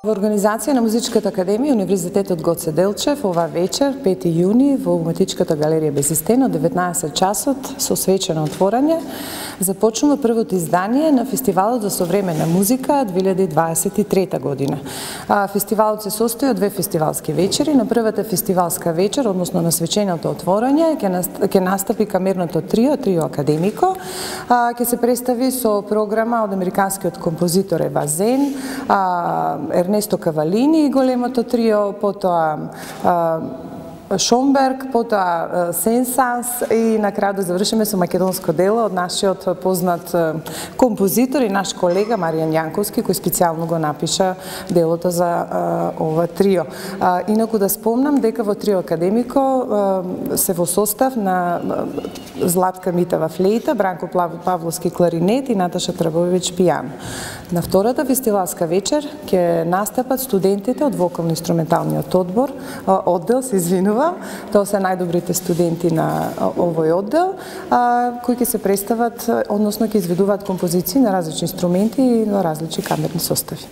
Во организација на Музичката академија Универзитетот Гоце Делчев ова вечер, 5 јуни, во Уметничката галерија Безистен од 19 часот со свечено отворање започнува првото издание на фестивалот за современа музика 2023 година. Фестивалот се состои од две фестивалски вечери. На првата фестивалска вечер, односно на свеченото отворање, ќе настапи камерното трио Академико, ќе се представи со програма од американскиот композитор Ева Зен, Ернесто Кавалини и големото трио, потоа Шомберг, потоа Сенсанс и на крај да завршиме со македонско дело од нашиот познат композитор и наш колега Маријан Јанковски, кој специјално го напиша делото за ова трио. Инаку да спомнам дека во трио Академико се во состав на Златка Митева флейта, Бранко Павловски кларинет и Наташа Трабовиќ пијано. На втората фестивалска вечер ќе настапат студентите од вокално-инструменталниот оддел, се извинувам. Тоа се најдобрите студенти на овој оддел, кои ќе се представат, односно ќе изведуваат композиции на различни инструменти и на различни камерни состави.